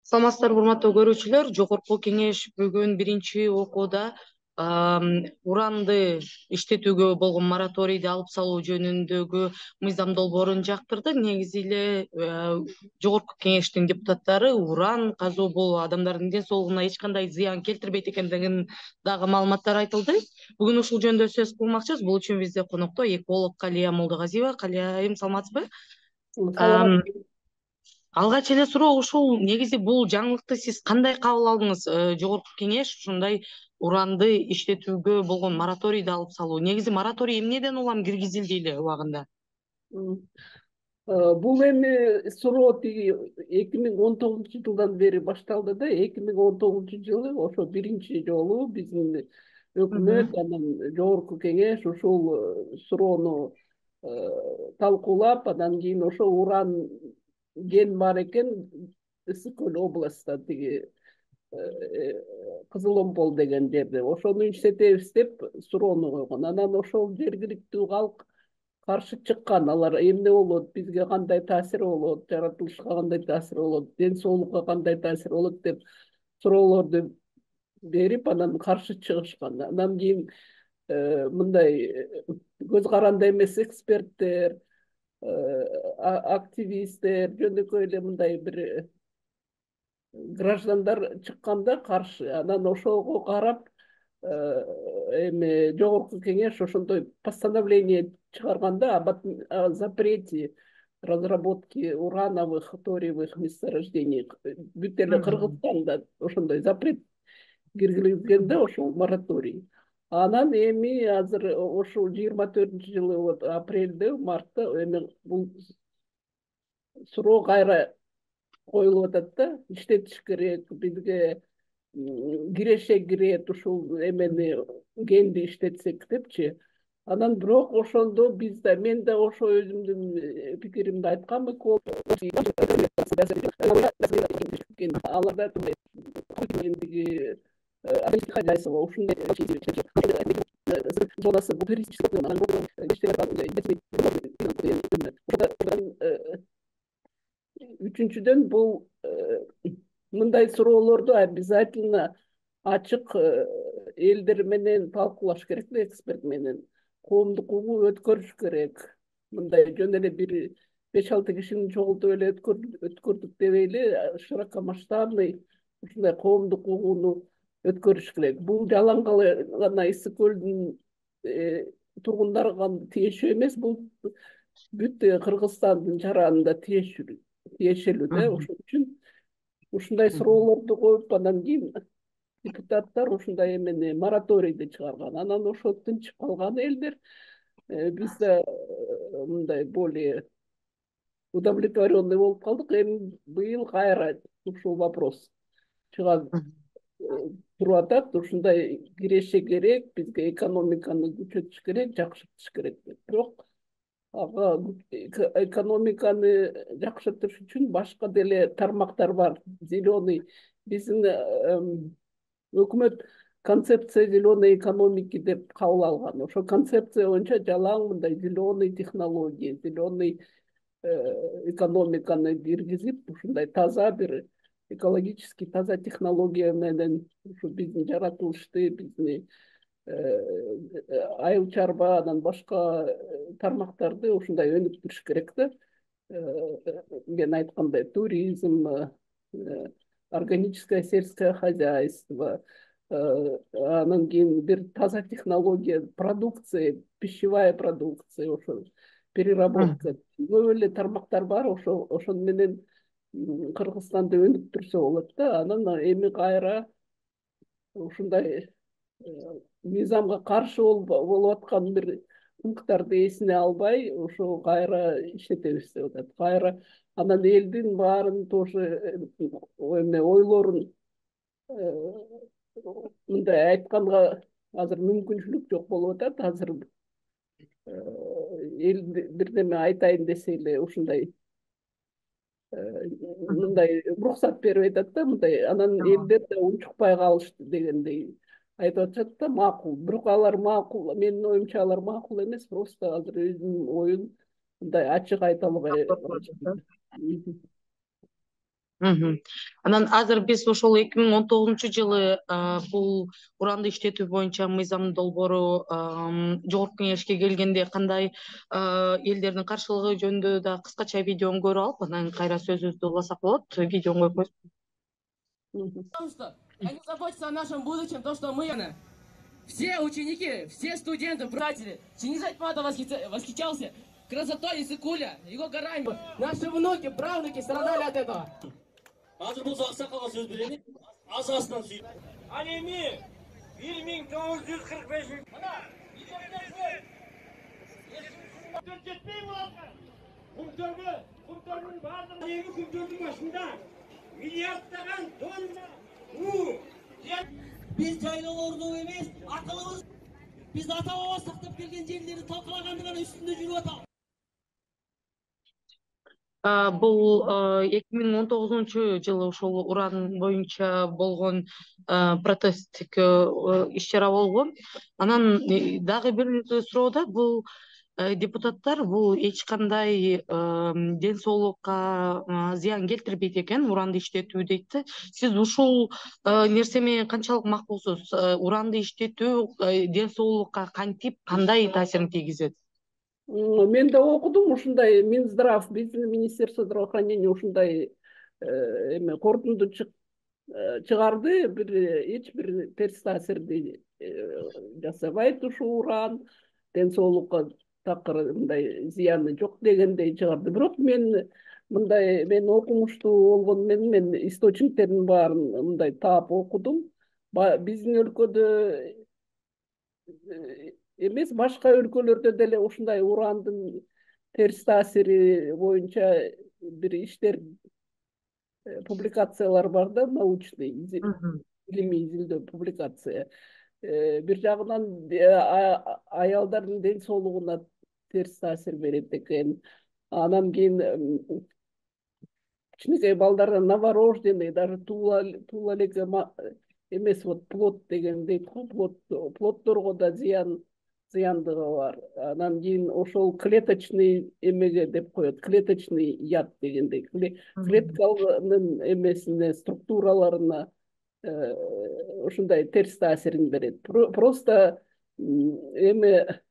Саламатсыздарбы, урматтуу көрүүчүлөр. Жогорку Кеңеш бүгүн биринчи окууда уранды иштетүүгө болгон мораторийди алып салуу жөнүндөгү мыйзам долбоорун жактырды. Негизи эле Жогорку Кеңештин депутаттары уран казуу бул адамдардын ден соолугуна эч кандай зыян келтирбейт экендигин дагы маалыматтар айтылды. Бүгүн ушул жөнүндө сөз кылмакчыбыз. Бул үчүн бизде конокто эколог Калия Молдогазиева. Калия айым, саламатсызбы? Саламат. Алгач эле суроо ушул, негизи бул жаңылыкты сиз кандай кабыл алдыңыз? Жогорку Кеңеш ушундай уранды иштетүүгө болгон мораторийди алып салуу. Негизи мораторий эмнеден улам киргизилди эле убагында? Бул эми суроо тиги 2019-жылдан бери башталды да, 2019-жылы ошо биринчи жолу биздин өкмөт анан Жогорку Кеңеш ушул суроону талкуулап, андан кийин ошо уран кен бар экен Ысык Көл областта, тиги Кызыл Омпол деген жерде. Ошону иштетебиз деп суроону койгон. Анан ошол жергиликтүү калк каршы чыккан. Алар эмне болот, бизге кандай таасири болот, жаратылышка кандай таасири болот, ден соолукка кандай таасири болот деп суроолорду берип, анан каршы чыгышкан. Андан кийин мындай көз каранды эмес эксперттер, активисттер, жөнөкөй эле мындай бир граждандар чыкканда каршы. Анан ошого карап эми Жогорку Кеңеш ошондой постановление чыгарганда о запрете разработки урановых, ториевых месторождений. Бүт эле Кыргызстанда ошондой запрет киргизгенде ошол мораторий. Анан эми азыр ошол 24-жылы вот апрелде, мартта эми бул суроо кайра коюлуп атат да, иштетиш керек, бизге киреше кирет ушул эмени, кенди иштетсек депчи. Анан бирок ошондо мен да ошо өзүмдүн пикиримди айткам. Аларда ушундай зонасы үчүнчүдөн бул мындай суроолорду обязательно ачык элдер менен талкуулаш керек да, эксперт менен. Коомдук угуу өткөрүш керек. Мындай жөн эле бир 5-6 кишини чогултуп эле өткөрдүк деп эле широкомасштабный ушундай коомдук угууну өткөрүш керек. Бул жалаң гана Ысык Көлдүн тургундары гана тиешүү эмес, бул бүт Кыргызстандын жаранына тиешелүү да. Ошон үчүн ушундай суроолорду коюп, андан кийин депутаттар ушундай эмени мораторийди чыгарган. Анан ошо тынчып калган элдер. Биз да мындай более удовлетворенный болуп калдык. Эми быйыл кайра ушул вопрос чыга туруп атат. Ушундай киреше керек, бизге экономиканы күчөтүш керек, жакшыртыш керек деп. Бирок ага экономиканы жакшыртыш үчүн башка деле тармактар бар. Зеленый, биздин өкмөт концепция зеленой экономики деп кабыл алган. Ошо концепция боюнча жалаң мындай зеленый технология, зеленый экономиканы киргизип, ушундай таза бир экологически таза технология менен ушу биздин жаратылышты, биздин айыл чарба, анан башка тармактарды ушундай өнүктүрүш керек да. Мен айткандай, туризм, органическое сельское хозяйство, анан кийин бир таза технология, продукция, пищевая продукция, ошо переработка. Көп эле тармактар бар, ошону менен Кыргызстанды өнүктүрсө болот да. Анан эми кайра ушундай мыйзамга каршы болуп аткан бир пункттарды эсине албай, ошо кайра иштетебиз деп атат. Кайра анан элдин баарын тоже эме ойлорун мындай айтканга азыр мүмкүнчүлүк жок болуп атат. Азыр эл бирдеме айтайын десе эле ушундай мындай уруксат берип атат да, мындай. Анан элдер да унчукпай калышты дегендей айтып атышат да, макул. Бирок алар макул, менин оюмча алар макул эмес, просто азыр өзүнүн оюн мындай ачык айта албай. Анан азыр биз ошол 2019 жылы бул уранды иштетүү боюнча мыйзам долбоору жогорку кеңешке келгенде кандай элдердин каршылыгы жөнүндө да кыскача видеону көрүп алып, анан кайра сөзүбүздү уласак болот. Видеону коюп коесузбу? Потому что они заботятся о нашем будущем, то, что мы, все ученики, все студенты, братья, Чингизайт Мата восхищался красотой Иссык-Куля, его горами. Наши внуки, правнуки страдали от этого. Азыр болсо аксакалга сөз берели. Азасынан сүйүп. Ал эми 1945 мына жетпей буларга. Кумтөрдүн баардыгы эми кумтөрдүн башында миллиарддаган тонна Biz жайлоолорду эмес, акылыбыз, biz ата баба сактап келген жерлерди талкалагандыгын үстүндө жүрүп атабыз. Бул 2019 жылы ошол уран боюнча болгон протесттик иш-чара болгон. Анан дагы бир суроо да, бул депутаттар бул эч кандай ден соолукка зыян келтирбейт экен, уранды иштетүү дейт да. Сиз ушул нерсе менен канчалык макулсуз? Уранды иштетүү ден соолукка кантип, кандай таасирин тийгизет? Мен да окудум ушундай Минздрав, биздин Министерство здравоохранения ушундай эме корутунду чыгарды, эч бир терс таасирди жасабайт ушул уран, ден соолукка такыр мындай зыяны жок дегендей чыгарды. Бирок мен окумуштуу болгону менен мен источниктердин баарын мындай таап окудум. Биздин өлкөдө эмес, башка өлкөлөрдө деле ушундай урандын терс таасири боюнча бир иштер, публикациялар бар да, научный, илимий изилдөө публикация. Бир жагынан аялдардын ден соолугуна терс таасир берет экен. Анан кийин кичинекей балдарда новорожденный, даже туула элек эмес, вот плод деген дейт го, плоддорго да зыяндыгы бар. Анан кийин ошол клеточный эмеге деп коет, клеточный яд дегендей, клетканын эмесине, структураларына ушундай терс таасирин берет. Просто эме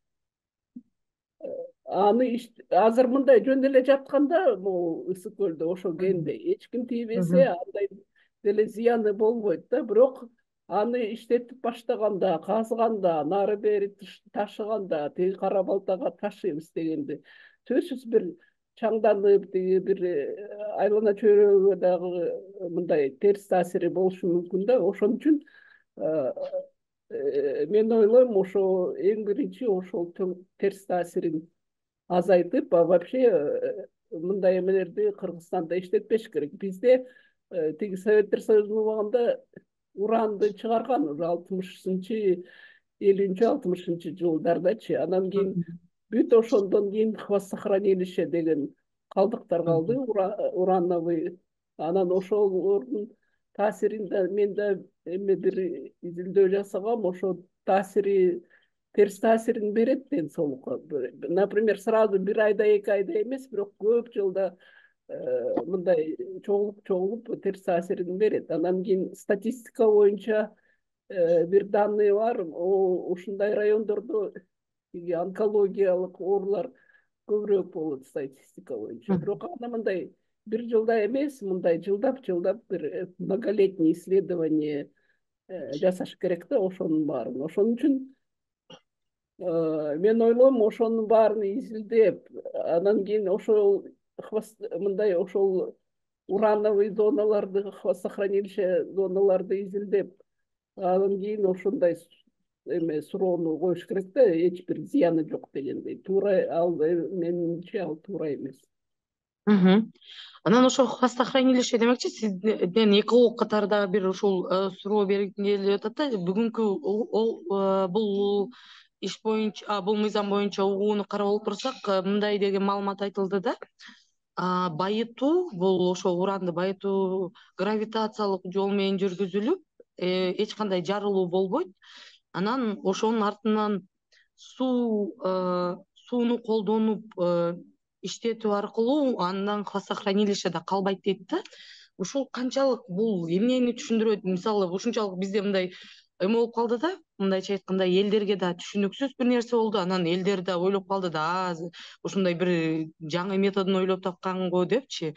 аны азыр мындай жөн эле жатканда, могу Ысык көлдө ошо кенде эч ким тийбесе андай деле зыяны болбойт да. Бирок аны иштетип баштаганда, казганда, нары бери ташыганда, тиги кара балтага ташыйбыз дегенде сөзсүз бир чаңданып, тиги бир айлана чөйрөгө дагы мындай терс таасири болушу мүмкүн да. Ошон үчүн мен ойлойм, ошо эң биринчи ошол терс таасирин азайтып, вообще мындай эмелерди Кыргызстанда иштетпеш керек. Бизде тиги Советтер Союзунун убагында уранды чыгарган уже 60-50-60 жылдардачы. Анан кийин бүт ошондон кийин хвостохранилище деген калдыктар калды, урановый. Анан ошолордун таасиринде мен да эме бир изилдөө жасагам, ошо таасири, терс таасирин берет ден соолукка. Например, сразу бир айда, 2 айда эмес, бирок көп жылда мындай чогулуп терс таасирин берет. Анан кийин статистика боюнча бир данные бар, ушундай райондордо онкологиялык оорулар көбүрөөк болот статистика боюнча. Бирок аны мындай бир жылда эмес, мындай жылдап бир многолетний исследование жасаш керек да ошонун баарын. Ошон үчүн мен ойлойм, ошонун баарын изилдеп, анан кийин ошол мындай ошол урановый зоналарды, хвостохранилище зоналарды изилдеп, анан кийин ошондой эме суроону коюш керек да, эч бир зыяны жок дегендей. Туура, ал менимче ал туура эмес. Анан ошо хвостохранилище демекчи, сизден эки ок катарда бир ушул суроо бергим келип атат да. Бүгүнкү бул иш боюнча, бул мыйзам боюнча угууну карап отурсак, мындай деген маалымат айтылды да. Байытуу, бул ошо уранды байытуу гравитациялык жол менен жүргүзүлүп, эч кандай жарылуу болбойт. Анан ошонун артынан сууну колдонуп иштетүү аркылуу андан хвостохранилищеде калбайт дейт да. ушул канчалык бул эмнени түшүндүрөт? Мисалы ушунчалык бизде мындай эме болуп калды да, мындайча айтканда элдерге да түшүнүксүз бир нерсе болду. Анан элдер да ойлоп калды да, ушундай бир жаңы методун ойлоп тапканго депчи.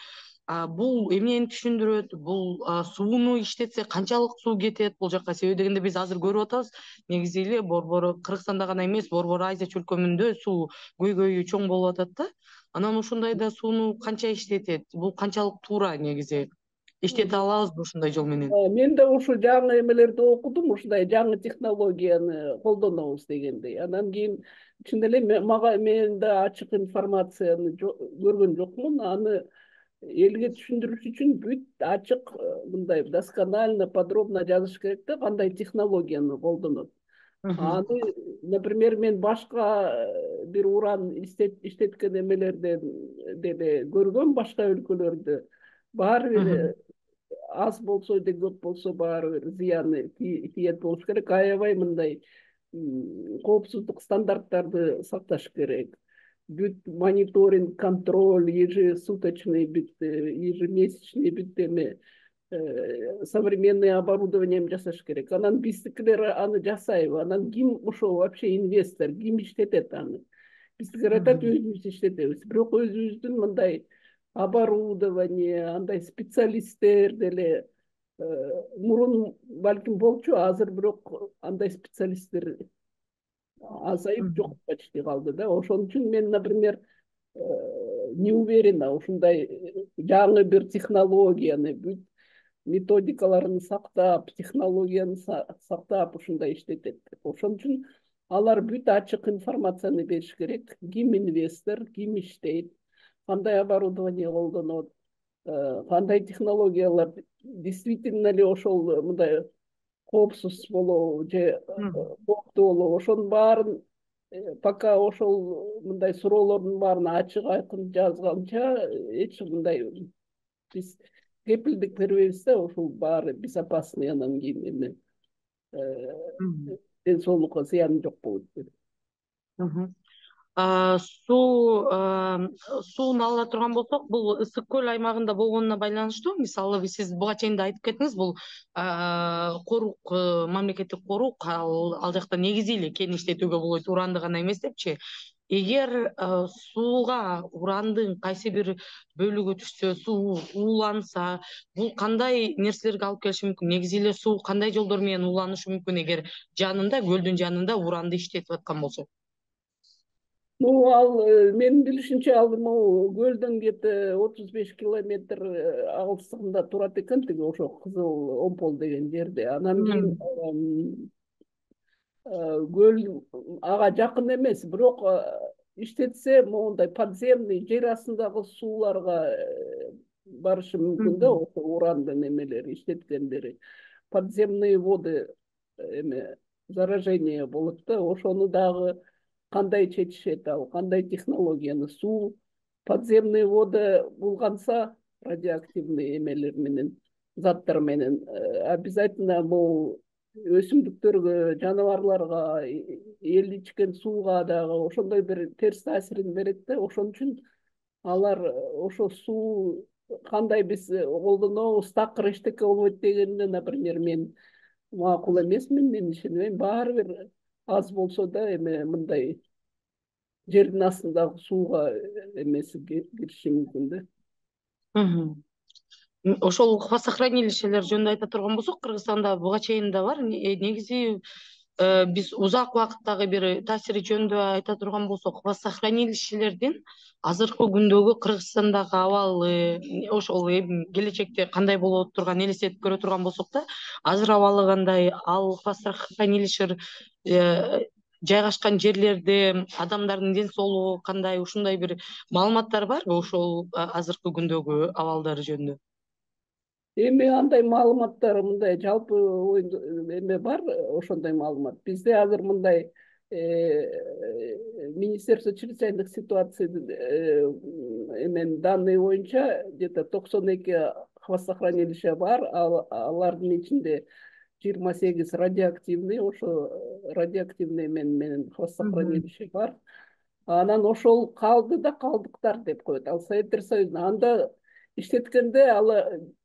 Бул эмнени түшүндүрөт? Бул сууну иштетсе канчалык суу кетет бул жака? Себеби дегенде биз азыр көрүп атабыз, негизи эле Борбор Кыргызстанда гана эмес, Борбор Азия чөлкөмүндө суу көйгөйү чоң болуп атат да. Анан ушундайда сууну канча иштетет? Бул канчалык туура негизи? Иштете алабызбы ушундай жол менен? Мен да ушул жаңы эмелерди окудум, ушундай жаңы технологияны колдонобуз дегендей. Анан кийин чын эле мен да ачык информацияны көргөн жокмун. Аны элге түшүндүрүш үчүн бүт ачык, мындай досконально, подробно жазыш керек да, кандай технологияны колдонот. Аны, например, мен башка бир уран иштеткен эмелерден деле көргөм, башка өлкөлөрдө. Баары бир аз болсо да көп болсо баары бир зыяны тиет болуш керек. Аябай мындай коопсуздук стандарттарды сакташ керек. Бүт мониторинг, контроль, ежесуточный, бүт ежемесячный, бүт эме современный оборудование жасаш керек. Анан биздикилер аны жасайбы? Анан ким ошо вообще инвестор, ким иштетет аны? Биздикилер айтат, өзүбүз иштетебиз. Бирок өзүбүздүн мындай оборудование, андай специалисттер деле мурун балким болчу, азыр бирок андай специалисттер азайып жок почти калды да. Ошон үчүн мен, например, не уверена ушундай жаңы бир технологияны, бүт методикаларын сактап, технологияны сактап ушундай иштетет. Ошон үчүн алар бүт ачык информацияны бериш керек. Ким инвестор, ким иштейт, кандай оборудование колдонот, кандай технологиялар действительно эле ошол мындай коопсуз болобу же кооптуу болобу, ошонун баарын пока ошол мындай суроолордун баарын ачык айкын жазганча эч мындай биз кепилдик бербейбиз да, ушул баары безопасный, анан кийин эме ден соолукка зыяны жок болот деп. Сууну ала турган болсок, бул ысык көл аймагында болгонуна байланыштуу. Мисалы сиз буга чейин да айтып кеттиңиз, бул корук, мамлекеттик корук, ал жакта негизи эле кен иштетүүгө болот, уранды гана эмес депчи. Эгер сууга урандын кайсы бир бөлүгү түшсө, суу ууланса, бул кандай нерселерге алып келиши мүмкүн? Негизи эле суу кандай жолдор менен ууланышы мүмкүн эгер жанында, көлдүн жанында уранды иштетип аткан болсо? Ал менин билишимче ал көлдөн где-то 35 километр алыстыгында турат экен, тиги ошо Кызыл Омпол деген жерде. Анан кийин көл ага жакын эмес, бирок иштетсе моундай подземный, жер астындагы сууларга барышы мүмкүн да, ошо урандын эмелери иштеткендери. Подземные воды эме заражение болот да, ошону дагы кандай чечишет, ал кандай технологияны? Суу, подземный вода булганса, радиоактивный эмелер менен, заттар менен обязательно бул өсүмдүктөргө, жаныбарларга, эл ичкен сууга дагы ошондой бир терс таасирин берет да. Ошон үчүн алар ошо суу кандай биз колдонобуз, такыр эчтеке болбойт дегенде, например, мен макул эмесмин, мен ишенбейм. Баары бир аз болсо да эме мындай жердин астындагы сууга эмеси кириши мүмкүн да. Ошол хвостохранилищелер жөнүндө айта турган болсок, Кыргызстанда буга чейин да бар. Негизи биз узак убакыттагы бир таасири жөнүндө айта турган болсок, хвостохранилищелердин азыркы күндөгү Кыргызстандагы абалы, ошол келечекте кандай болот турганын элестетип көрө турган болсок да, азыр абалы кандай, ал хвостохранилище жайгашкан жерлерде адамдардын ден соолугу кандай, ушундай бир маалыматтар барбы ошол азыркы күндөгү абалдары жөнүндө? Эми андай маалыматтар мындай жалпы эме бар, ошондой маалымат. Бизде азыр мындай Министерство чрезвычайных ситуаций эмен данные боюнча где-то 92 хвостохранилище бар, алардын ичинде 28 радиоактивный, ошо радиоактивный менен хвостохранилище бар. Анан ошол калды да калдыктар деп коет. Ал Советтер Союзунда анда иштеткенде ал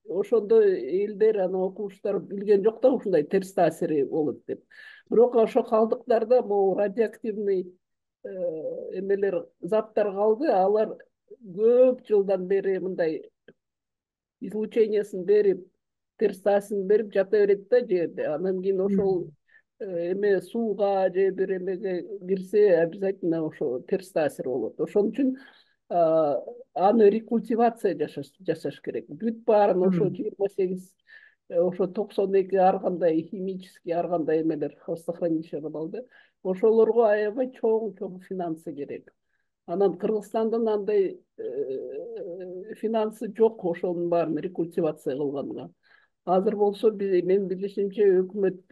ошондо элдер анан окумуштар билген жок да ушундай терс таасири болот деп. Бирок ошо калдыктарда могу радиоактивный эмелер заттар калды, алар көп жылдан бери мындай излучениясын берип, терс таасирин берип жата берет да жерде. Анан кийин ошол эме сууга же бир эмеге кирсе обязательно ошо терс таасир болот. Ошон үчүн аны рекультивация жасаш керек. Бүт баарын ошо 28 ошо 92 ар кандай химический ар кандай эмелер хвостохранилища бар да. Ошолорго аябай чоң финансы керек. Анан Кыргызстандын андай финансы жок ошонун баарын рекультивация кылганга. Азыр болсо менин билишимче өкмөт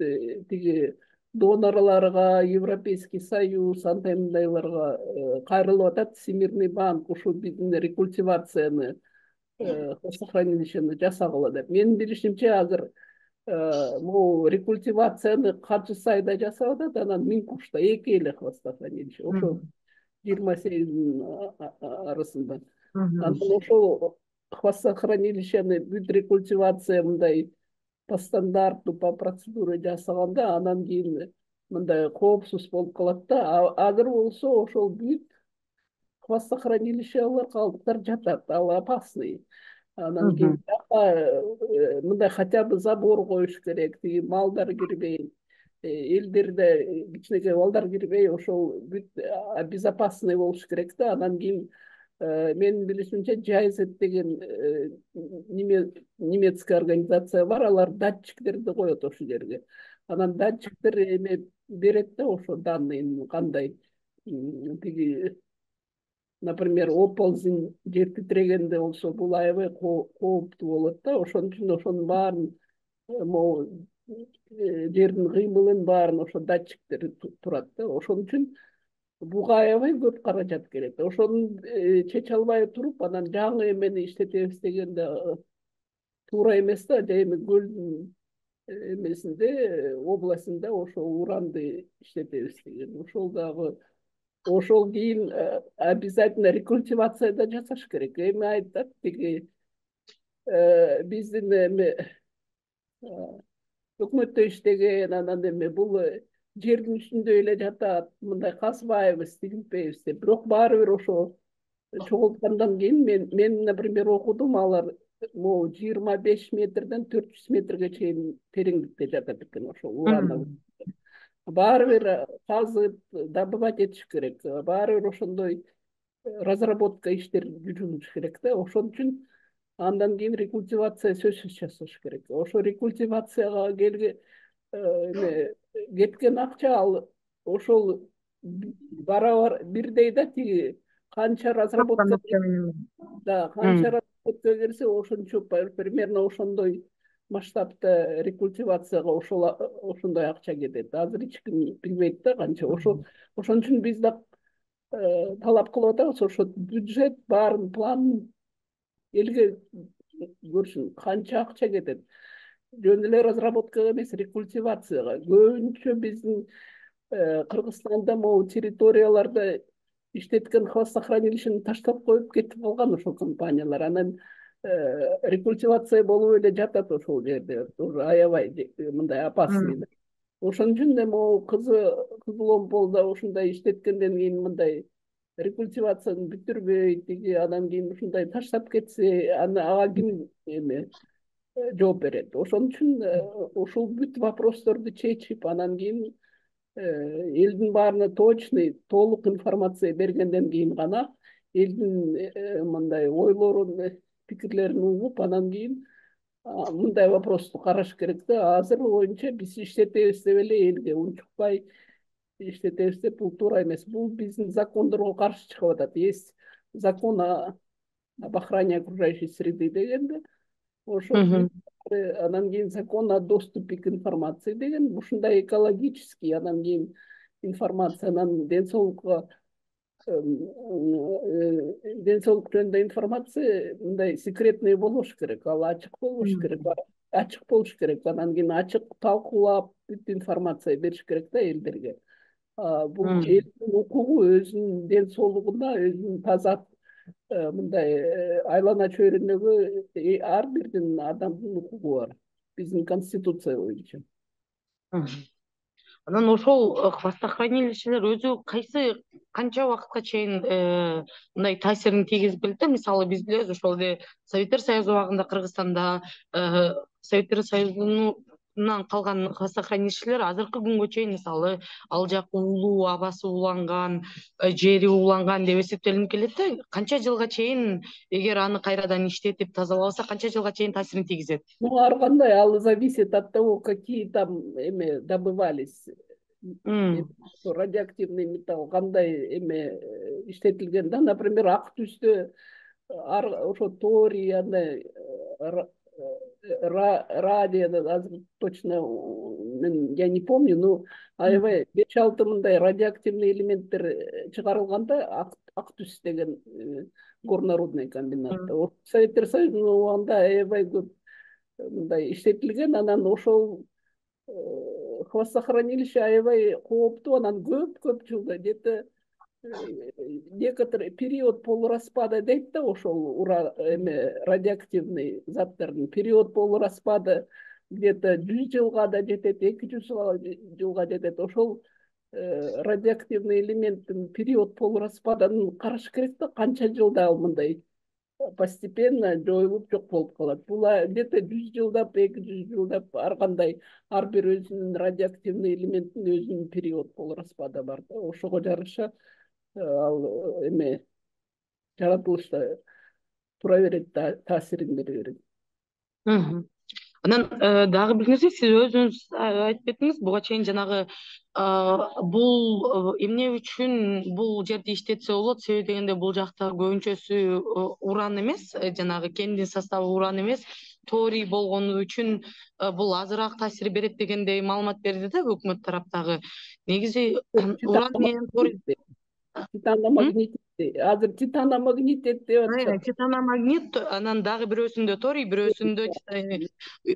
тиги донорлорго, Европейский Союз андай мындайларга кайрылып атат. Всемирный банк ушу биздин рекультивацияны хвостохранилищени жасагыла деп. Менин билишимче азыр могу рекультивацияны Качы Сайда жасап атат, анан Минкушта эки эле хвостохранилище. Ошо 28 арасында. Анан ошол хвостохранилищени бүт рекультивация мындай по стандарту, по процедуре жасаганда анан кийин мындай коопсуз болуп калат да. Азыр болсо ошол бүт хвостохранилищелер калдыктар жатат, ал опасный. Анан кийин мындай хотя бы забор коюш керек, тиги малдар кирбей, элдерде кичинекей балдар кирбей, ошол бүт безопасный болуш керек да. Анан кийин менин билишимче Джайзет деген немецкая организация бар, алар датчиктерди коет ошол жерге. Анан датчиктер эме берет да ошо данныйын кандай тиги, например, оползень жер титирегенде болсо бул аябай кооптуу болот да. Ошон үчүн ошонун баарын могу жердин кыймылын баарын ошо датчиктер турат да. Ошон үчүн буга аябай көп каражат керек. Ошону чече албай туруп, анан жаңы эмени иштетебиз дегенде туура эмес да. Эми көлдүн эмесинде, областында ошо уранды иштетебиз деген. Ошол дагы ошол кийин обязательно рекультивацияда жасаш керек. Эми айтат тиги биздин эме өкмөттө иштеген анан эме бул жердин үстүндө эле жатат, мындай казбайбыз, тигилбейбиз деп. Бирок баары бир ошо чогулткандан кийин мен например окудум, алар могу 25 метрден 400 метрге чейин тереңдикте жатат экен ошол уран. Баары бир казып, добывать этиш керек. Баары бир ошондой разработка иштер жүргүзүш керек да. Ошон үчүн андан кийин рекультивация сөзсүз жасаш керек. Ошо рекультивацияга кеткен акча ал ошол барабар бирдей да. Тиги канча разработка келсе ошончо примерно ошондой масштабта рекультивацияга ошондой акча кетет. Азыр эч ким билбейт да канча. Ошон үчүн биз да талап кылып атабыз, ошо бюджет баарын планын элге көрсүн, канча акча кетет. Жөн эле разработкага эмес, рекультивацияга. Көбүнчө биздин Кыргызстанда могу территорияларда иштеткен хвостохранилищени таштап коюп кетип калган ошол компаниялар. Анан рекультивация болуп эле жатат ошол жерде. Аябай мындай опасный. Ошон үчүн да могу Кызыломполдо ушундай иштеткенден кийин мындай рекультивацияны бүтүрбөй, тиги анан кийин ушундай таштап кетсе, ага ким эме жооп берет. Ошон үчүн ушул бүт вопросторду чечип, анан кийин элдин баарына точный, толук информация бергенден кийин гана элдин мындай ойлорун, пикирлерин угуп, анан кийин мындай вопросту караш керек да. Азыр боюнча биз иштетебиз деп эле элге унчукпай иштетебиз деп, бул туура эмес. Бул биздин закондорго каршы чыгып атат. Есть закон об охране окружающей среды дегенде, ошол анан кийин закон о доступе к информации деген, ушундай экологический, анан кийин информация, анан ден соолук жөнүндө информация мындай секретный болуш керек, ал ачык болуш керек, анан кийин ачык талкуулап бүт информация бериш керек да элдерге. Бул элдин укугу, өзүнүн ден соолугуна, өзүнүн таза мындай айлана чөйрөнөгү ар бирдин адамдын укугу бар биздин конституция боюнча. Анан ошол хвостохранилищелер өзү канча убакытка чейин мындай таасирин тийгизип келет да? Мисалы биз билебиз ошол эле Советтер Союзу убагында Кыргызстанда Советтер Союзунан калган хвостохранилищелер азыркы күнгө чейин мисалы ал жак уулуу, абасы ууланган, жери ууланган деп эсептелинип келет да. Канча жылга чейин эгер аны кайрадан иштетип тазалабаса канча жылга чейин таасирин тийгизет? Ну, ар кандай, ал зависит от того, какие там добывались. Радиоактивный металл кандай иштетилген да, например, ак түстө ошо торий, андай радий, азыр точно я не помню, но аябай 5-6 мындай радиоактивный элементтер чыгарылганда ак түс деген горнорудный комбинатта. Советтер Союзунун убагында аябай көп мындай иштетилген, анан ошол хвостохранилище аябай кооптуу, анан көп жылда где-то некоторый период полураспада дейт да, ошол радиоактивный заттардын период полураспада где-то 100 жылга да жетет, 200 жылга жетет. Ошол радиоактивный элементтин период полураспадын караш керек да, канча жылда ал мындай постепенно жоюлуп жок болуп калат. Бул где-то 100 жылдап, 200 жылдап ар кандай ар бир өзүнүн радиоактивный элементтин өзүнүн период полураспада бар да. Ошого жараша ал жаратылышта тура берет, таасирин бере берет. Анан дагы бир нерсе, сиз өзүңүз айтып кеттиңиз, буга чейин жанагы бул эмне үчүн бул жерде иштетсе болот, себеби дегенде бул жакта көбүнчөсү уран эмес, жанагы кендин составы уран эмес, торий болгону үчүн бул азыраак таасир берет дегендей маалымат берди да өкмөт тараптагы. Негизи уран менен торий Титаномагнит, азыр титаномагнит деп атышат. Титаномагнит, анан дагы бирөөсүндө торий, бирөөсүндө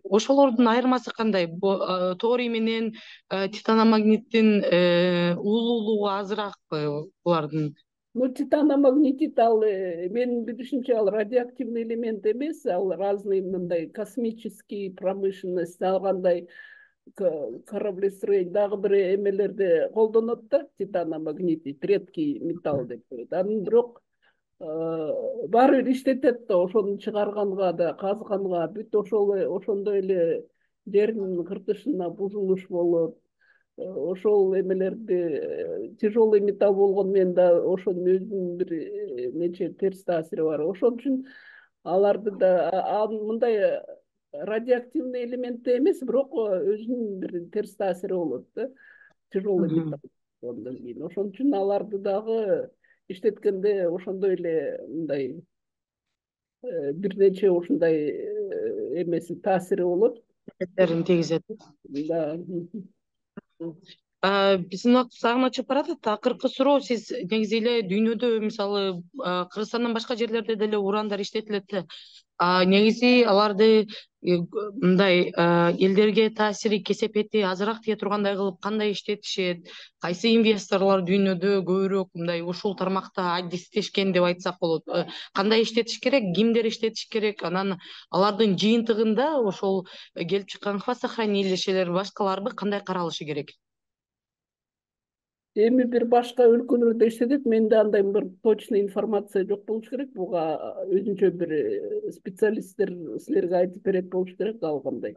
ошолордун айырмасы кандай? Торий менен титаномагниттин уулуулугу азыраак булардын? Ну, титаномагнетит ал менин билишимче ал радиоактивный элемент эмес, ал разный мындай космический промышленность, ал кандай кораблестроение дагы бир эмелерде колдонот да, титаномагнетит, редкий металл деп коет. Анын бирок баары бир иштетет да, ошону чыгарганга да, казганга, бүт ошондой эле жердин кыртышына бузулуш болот. Ошол эмелерди тяжелый металл болгону менен да ошонун өзүнүн бир нече терс таасири бар. Ошон үчүн аларды да мындай радиоактивный элемент эмес, бирок өзүнүн бир терс таасири болот да, тяжелый металл болгондон кийин. Ошон үчүн аларды дагы иштеткенде ошондой эле мындай бир нече ушундай эмеси таасири болот. Эсерин тийгизет. Да. Биздин убактыбыз агына чыгып баратат. Акыркы суроо, сиз негизи эле дүйнөдө мисалы Кыргызстандан башка жерлерде деле урандар иштетилет да. Негизи аларды мындай элдерге таасири, кесепети азыраак тие тургандай кылып кандай иштетишет? Кайсы инвесторлор дүйнөдө көбүрөөк мындай ушул тармакта адистешкен деп айтсак болот? Кандай иштетиш керек, кимдер иштетиш керек? Анан алардын жыйынтыгында ошол келип чыккан хвостохранилищелер башкаларбы кандай каралышы керек? Эми бир башка өлкөлөрдө иштетет, менде андай бир точный информация жок болуш керек. Буга өзүнчө бир специалисттер силерге айтып берет болуш керек, ал кандай.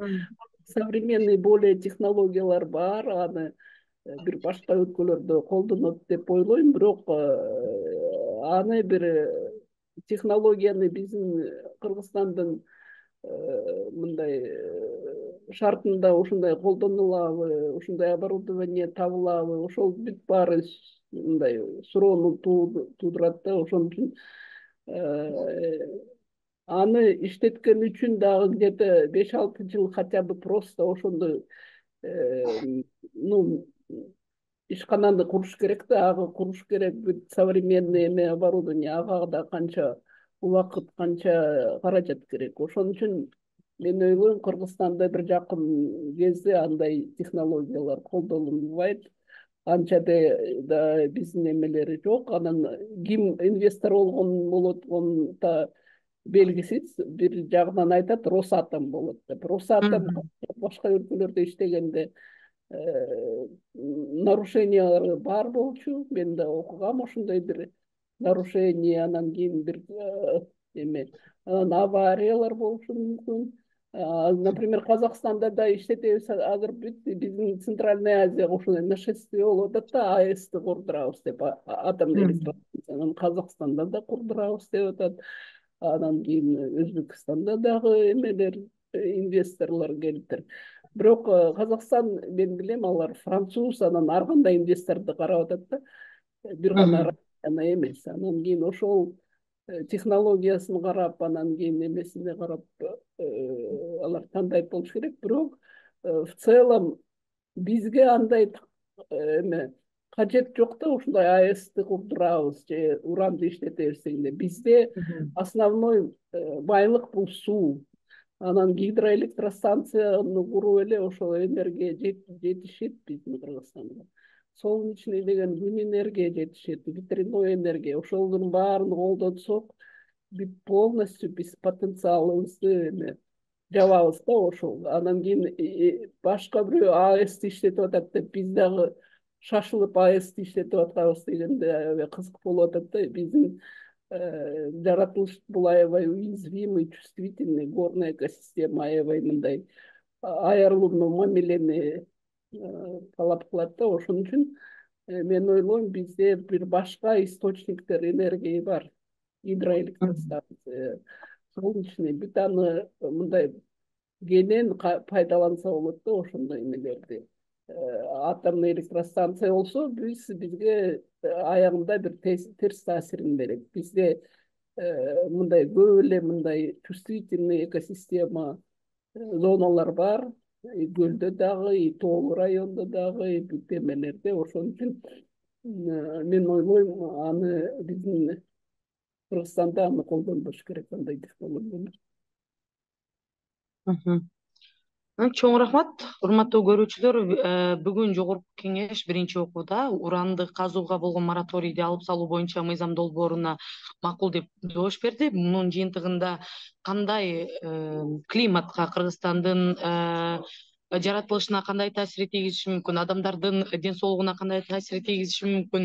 Современный более технологиялар бар, аны бир башка өлкөлөрдө колдонот деп ойлойм, бирок аны бир технологияны биздин Кыргызстандын мындай шартында ушундай колдонулабы, ушундай оборудование табылабы, ошол бүт баары мындай суроону туудурат да. Ошон үчүн аны иштеткен үчүн дагы где-то 5-6 жыл хотя бы просто ошондой ишкананы куруш керек да, ага куруш керек, бүт современный оборудование, ага да канча убакыт, канча каражат керек. Ошон үчүн мен ойлойм, Кыргызстанда бир жакын кезде андай технологиялар колдонулбайт. анча да биздин эмелери жок. Анан ким инвестор болот да белгисиз. Бир жагынан айтат, Росатом болот деп. Росатом башка өлкөлөрдө иштегенде нарушениялары бар болчу. Мен да окугам ошондой бир нарушение, анан кийин бир эме, анан авариялар болушу мүмкүн. Например, Казакстанда да иштетебиз, азыр бүт биздин Центральная Азияга ошондой нашествие болуп атат да, АЭСти курдурабыз деп, атомдой электростанция. Анан Казакстанда да курдурабыз деп атат. Анан кийин Өзбекстанда дагы эмелер, инвесторлор келиптир. Бирок Казакстан, мен билем, алар француз, анан ар кандай инвесторду карап атат да, бир гана Россияны эмес. Анан кийин ошол технологиясын карап, анан кийин эмесине карап алар тандайт болуш керек. Бирок в целом бизге андай эме кажет жок да, ушундай АЭСти курдурабыз же уранды иштетебиз дегенде. Бизде основной байлык бул суу. Анан гидроэлектростанцияны куруп эле ошол энергия жетишет биздин Кыргызстанда. Солнечный деген күн энергия жетишет, ветряной энергия. Ошолордун баарын колдонсок, полностью биз потенциалыбызды эме жабабыз да ошол. Анан кийин башка бирөө АЭСти иштетип атат деп, биз дагы шашылып АЭСти иштетип атканбыз дегенде кызык болуп атат да. Биздин жаратылыш бул аябай уязвимый, чувствительный, горная экосистема аябай мындай айырылууну, мамилени талап кылат да. Ошон үчүн мен ойлойм, бизде бир башка источниктер энергия бар. Гидроэлектростанция, солнечный, бүт аны мындай кенен пайдаланса болот да ошондой эмелерди. Атомный электростанция болсо бизге аягында бир терс таасирин берет. Бизде мындай көп эле мындай чувствительный экосистема зоналар бар. Көлдө дагы, тоолуу райондо дагы, бүт эмелерде. Ошон үчүн мен ойлойм, аны биздин Кыргызстанда аны колдонбош керек, андай технологияны. Чоң рахмат, урматтуу көрүүчүлөр. Бүгүн Жогорку Кеңеш биринчи окууда уранды казууга болгон мораторийди алып салуу боюнча мыйзам долбооруна макул деп добуш берди. Мунун жыйынтыгында кандай климатка, Кыргызстандын жаратылышына кандай таасир тийгизиши мүмкүн, адамдардын ден соолугуна кандай таасир тийгизиши мүмкүн,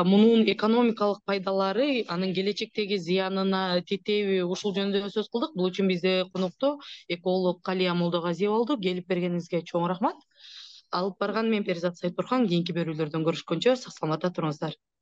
мунун экономикалык пайдалары, анын келечектеги зыянына тетеби, ушул жөнүндө сөз кылдык. Бул үчүн бизде конокто эколог Калия Молдогазиева болду. Келип бергениңизге чоң рахмат. Алып барган мен Перизат Сайтурхан. Кийинки берүүлөрдөн көрүшкөнчө сак саламатта туруңуздар.